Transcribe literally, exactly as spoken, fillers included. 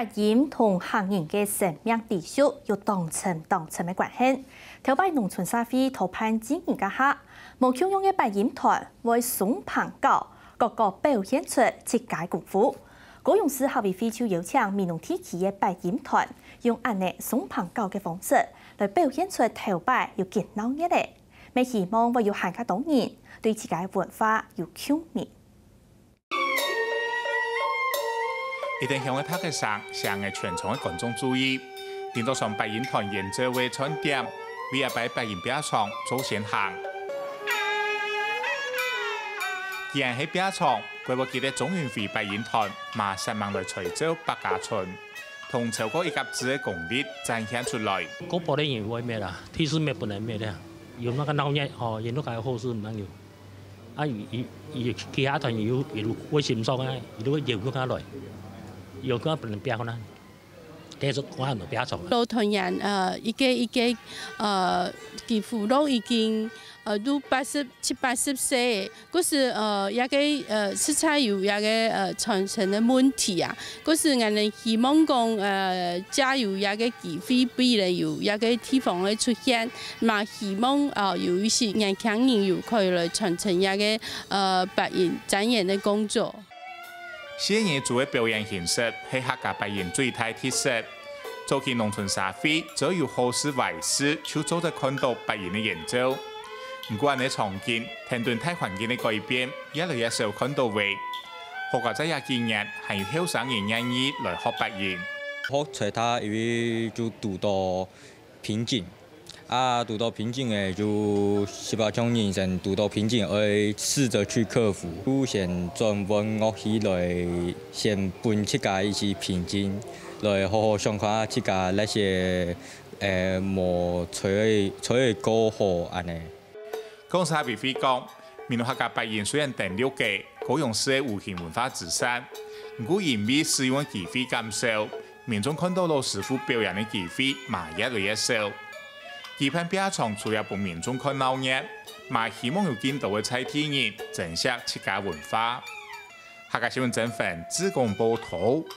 八音同客人个生命底蘊有當深當深个關係。頭擺農村社會討辦祭儀該下，無共樣个八音團會鬆棚搞，各各表現出自家功夫。高雄市客委會就邀請美濃地區个八音團，用恁呢鬆棚搞个方式來表現出頭擺有幾鬧熱个，乜希望會有還較多人對自家个文化有共鳴。 一等響个拍擊聲，吸引全場个觀眾注意。頂到上八音團演奏个餐點，為這擺八音拼場做先行。既然係拼場，該會記得鍾雲輝八音團嘛煞猛來吹奏百家春，同超過一甲子个功力展現出來。國寶个人會滅啦，第四滅不能滅个，有那個鬧熱吼，有那個好事毋能有。 啊，佢佢佢其他團友佢會欣賞啊，佢會邀佢下來，邀佢下分人表演啊，繼續看人表演。老團員呃一個一個呃，佢父老已經呃都八十七八十歲，故所呃這個呃實在有這個呃傳承个問題啊。 故所𠊎等希望講呃藉由這個機會，分佢有這個地方个出現，嘛希望呃有一息年輕人有可以來傳承這個呃八音展演个工作。四月做个表演形式係客家八音最大特色。早期農村社會只要有好事壞事就做得看到八音个演奏。毋過恁呢場景，跈等大環境个改變，越來越少看到了。 好佳哉這幾年還有後生人願意來學八音。學吹打因為就堵到瓶頸，啊堵到瓶頸个就係像人生堵到瓶頸，愛試著去克服。就先轉換樂器來，先分自家一息瓶頸，來好好想看自家哪些呃無吹吹過好恁呢。 講實話，講，美濃客家八音雖然登陸个高雄市个無形文化資產，毋過因為使用个機會減少，民眾看到老師傅表演个機會嘛越來越少。舉辦拼場除了分民眾看鬧熱，嘛希望有更多个在地人珍惜自家文化。客家新聞曾凡，志工報導。